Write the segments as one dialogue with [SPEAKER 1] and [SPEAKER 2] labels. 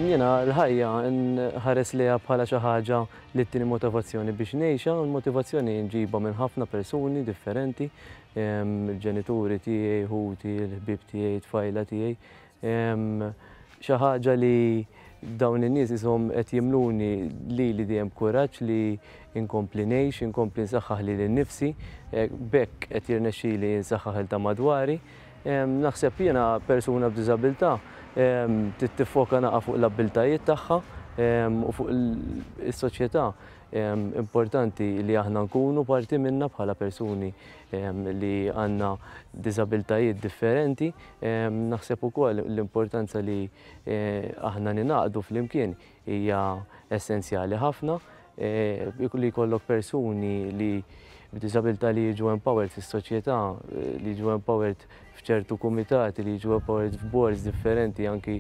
[SPEAKER 1] Jiena l-ħajja nħares lejha bħala xi ħaġa li ttini motivazzjoni biex ngħixha, u l-motivazzjoni nġibha minn ħafna persuni differenti, il-ġenituri tiegħi, ħuti, il-ħbieb tiegħi, it-tfajla tiegħi. Xi ħaġa li dawn in-nies ishom qed jimluni lili dejjem b'kuraġġ li nkompli ngħix, inkompli nsaħħaħ lili nnifsi, b'hekk qed jirnexxili nsaħħaħ il ta' madwari. Naħseb jiena persuna b'diżabilità trid tiffoka naqa' fuq l-abbiltajiet tagħha u fuq is-soċjetà. Importanti li aħna nkunu parti minnha bħala persuni li għandna diżabilitajiet differenti. Naħseb ukoll l-importanza li aħna ningħaqdu flimkien hija essenzjali ħafna. Li jkollok persuni li b'diżabilità li jiġu empowered fis-soċjetà, li jiġu empowered f'ċertu kumitati, li jiġu empowered f'boards differenti anki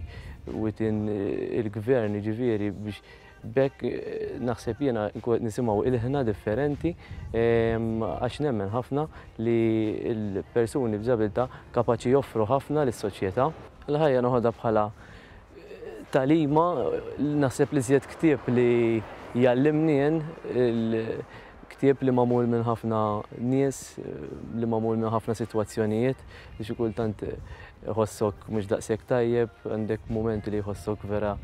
[SPEAKER 1] within il-gvern, jiġifieri biex b'hekk naħseb jiena nkun qed nisimgħu ilħna differenti għax nemmen ħafna li l-persuni b'diżabilità kapaċi joffru ħafna lis-soċjetà. Il-ħajja noħodha bħala tagħlima, naħseb li żjed ktieb li jgħallimni jien, ktieb li magħmul minn ħafna nies, li magħmul minn ħafna sitwazzjonijiet, li xi kultant iħossok mhux daqshekk tajjeb, għandek mumenti li jħossok vera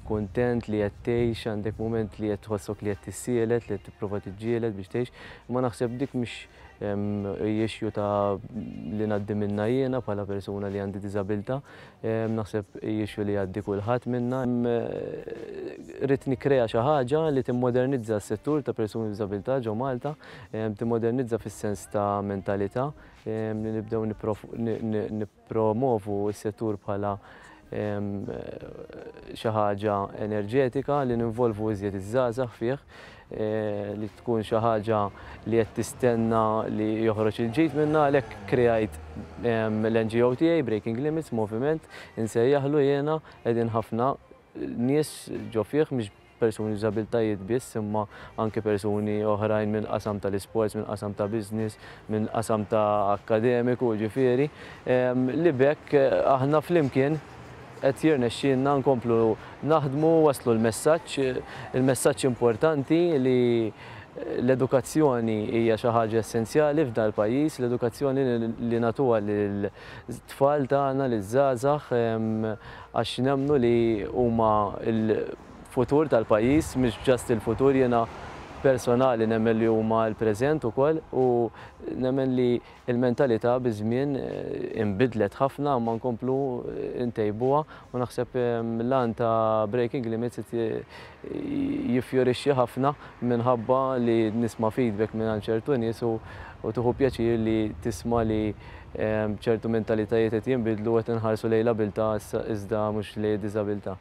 [SPEAKER 1] kuntent li qed tgħix, għandek mument li qed tħossok li qed tissielet, li qed tipprova tiġġieled biex tgħix, imma naħseb dik mhix issue ta' li ngħaddi minnha jiena bħala persuna li għandi diżabilità, naħseb issue li jgħaddi kulħadd minna. Ridt nikkrea xi ħaġa li timmodernizza s-settur ta' persuni b'diżabilità ġo Malta, timmodernizza fis-sens ta' mentalità, li nibdew nippromovu s-settur bħala xi ħaġa enerġetika li ninvolvu iżjed iż-żgħażagħ fih, li tkun xi ħaġa li qed tistenna li joħroġ il-ġid minnha, għalhekk kreajt l-NGO tiegħi Breaking Limits Moviment, insejjaħlu jiena, qegħdin ħafna nies ġo fih, mhix persuni b'diżabilitajiet biss, imma anke persuni oħrajn minn qasam tal-isports, minn qasam ta' business, minn qasam ta' akkademiku, ġifieri, li b'hekk aħna flimkien qed jirnexxielna nkomplu naħdmu, waslu l-messaġġ, il-messaġġ importanti li l-edukazzjoni hija xi ħaġa essenzjali f'dal pajjiż, l-edukazzjoni li nagħtuha lil-tfal tagħna, liż-żgħażagħ, għax nemmnu li huma l-futur tal-pajjiż, mhux just il-futur, jiena personali nemmen li huma l-preżent ukoll u nemmen li l-mentalità biż-żmien inbidlet ħafna imma nkomplu ntejbuha u naħseb l-għan ta' Breaking Limits qed jiffjorixxi ħafna minħabba li nisma' feedback minn ċertu nies u tieħu pjaċir li tisma' li ċertu mentalitajiet qed jinbidlu u qed inħarsu lejn l-abilità iżda mhux lejn id-diżabilità.